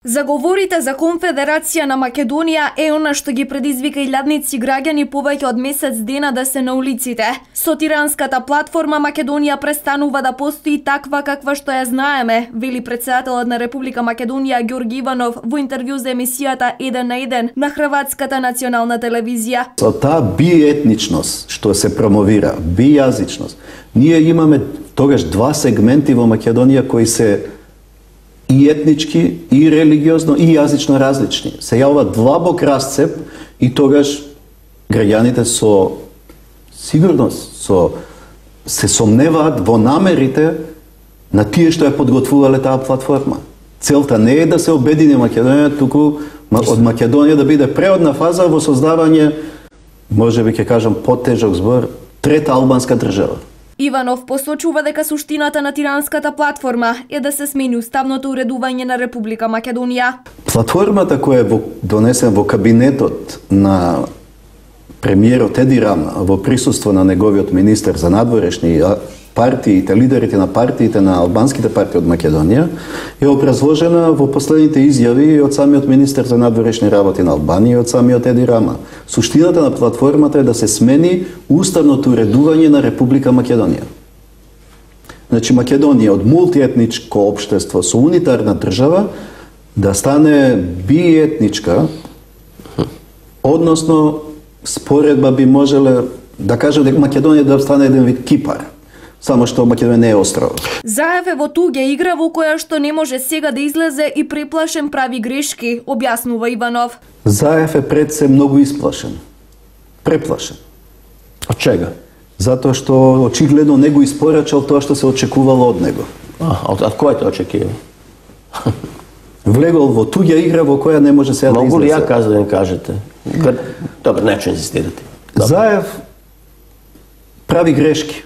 Заговорите за Конфедерација на Македонија е она што ги предизвика илјадници граѓани повеќе од месец дена да се на улиците. Со тиранската платформа Македонија престанува да постои таква каква што ја знаеме, вели претседателот на Република Македонија Ѓорги Иванов во интервју за емисијата 1 на 1 на Хрватската национална телевизија. Со таа биетничност што се промовира, бијазичност, ние имаме тогаш два сегменти во Македонија кои се и етнички, и религиозно, и јазично различни. Се јавува длабок расцеп и тогаш граѓаните со сигурност се сомневаат во намерите на тие што ја подготвувале таа платформа. Целта не е да се обедини Македонија, туку од Македонија да биде преодна фаза во создавање, можеби ќе кажам потежок збор, трета албанска држава. Иванов посочува дека суштината на тиранската платформа е да се смени уставното уредување на Република Македонија. Платформата која е донесена во кабинетот на премиерот Еди Рама во присуство на неговиот министер за надворешни партиите, лидерите на партиите на албанските партии од Македонија, е образложена во последните изјави од самиот министер за надворешни работи на Албанија и од самиот Еди Рама. Суштината на платформата е да се смени уставното уредување на Република Македонија. Значи Македонија од мултиетничко општество со унитарна држава да стане биетничка, односно споредба би можеле да кажа дека Македонија да стане еден вид Кипар. Само што Македонија не е остров. Заев е во туѓа игра во која што не може сега да излезе и преплашен прави грешки, објаснува Иванов. Заев е пред се многу исплашен. Преплашен. Од чега? Затоа што очигледно не го испорачал тоа што се очекувало од него. Од кој те очекива? Влегол во туѓа игра во која не може сега да излезе. Могу ли ја да им кажете? Добро, не инзистирате. Заев прави грешки.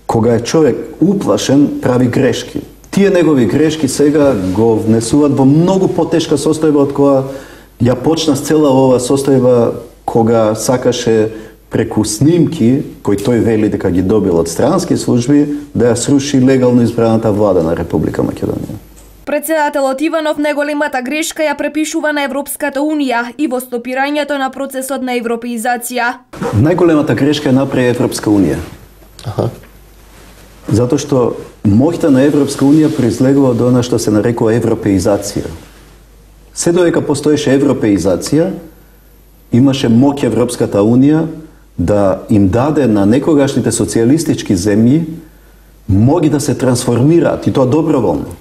Кога е човек уплашен, прави грешки. Тие негови грешки сега го внесуваат во многу потешка состојба од која ја почна цела ова состојба кога сакаше преку снимки, кои тој вели дека ги добил од странски служби, да ја сруши легално избраната влада на Република Македонија. Претседателот Иванов најголемата грешка ја препишува на Европската Унија и во стопирањето на процесот на европеизација. Најголемата грешка ја направи Европска Унија. Затоа што моќта на Европска Унија произлегува од она што се нарекува европеизација. Се додека постоеше европеизација, имаше моќ Европската Унија да им даде на некогашните социјалистички земји моги да се трансформираат и тоа доброволно.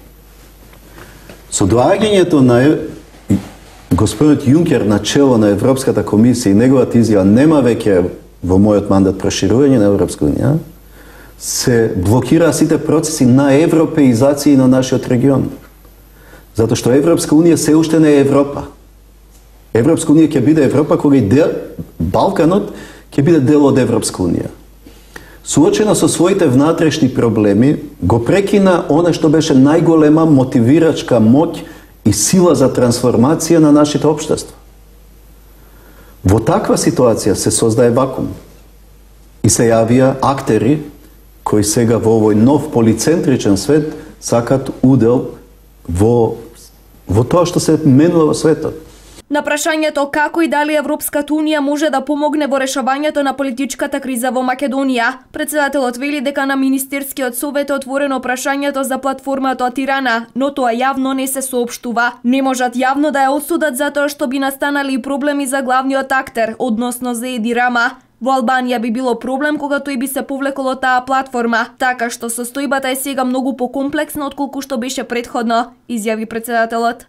Со доаѓањето на господинот Јункер на чело на Европската комисија и неговата изјава нема веќе во мојот мандат проширување на Европска Унија, се блокираа сите процеси на европеизација на нашиот регион. Затоа што Европска Унија се уште не е Европа. Европска Унија ќе биде Европа кога и Балканот ќе биде дел од Европска Унија. Суочена со своите внатрешни проблеми, го прекина она што беше најголема мотивирачка моќ и сила за трансформација на нашите општества. Во таква ситуација се создае вакуум и се јавија актери кои сега во овој нов полицентричен свет сакат удел во тоа што се менува во светот. На прашањето како и дали Европската Унија може да помогне во решавањето на политичката криза во Македонија, претседателот вели дека на Министерскиот совет е отворено прашањето за платформата од Тирана, но тоа јавно не се соопштува. Не можат јавно да ја осудат затоа што би настанали и проблеми за главниот актер, односно за Еди Рама. Во Албанија би било проблем кога тој би се повлекол од таа платформа, така што состојбата е сега многу покомплексна отколку што беше претходно, изјави претседателот.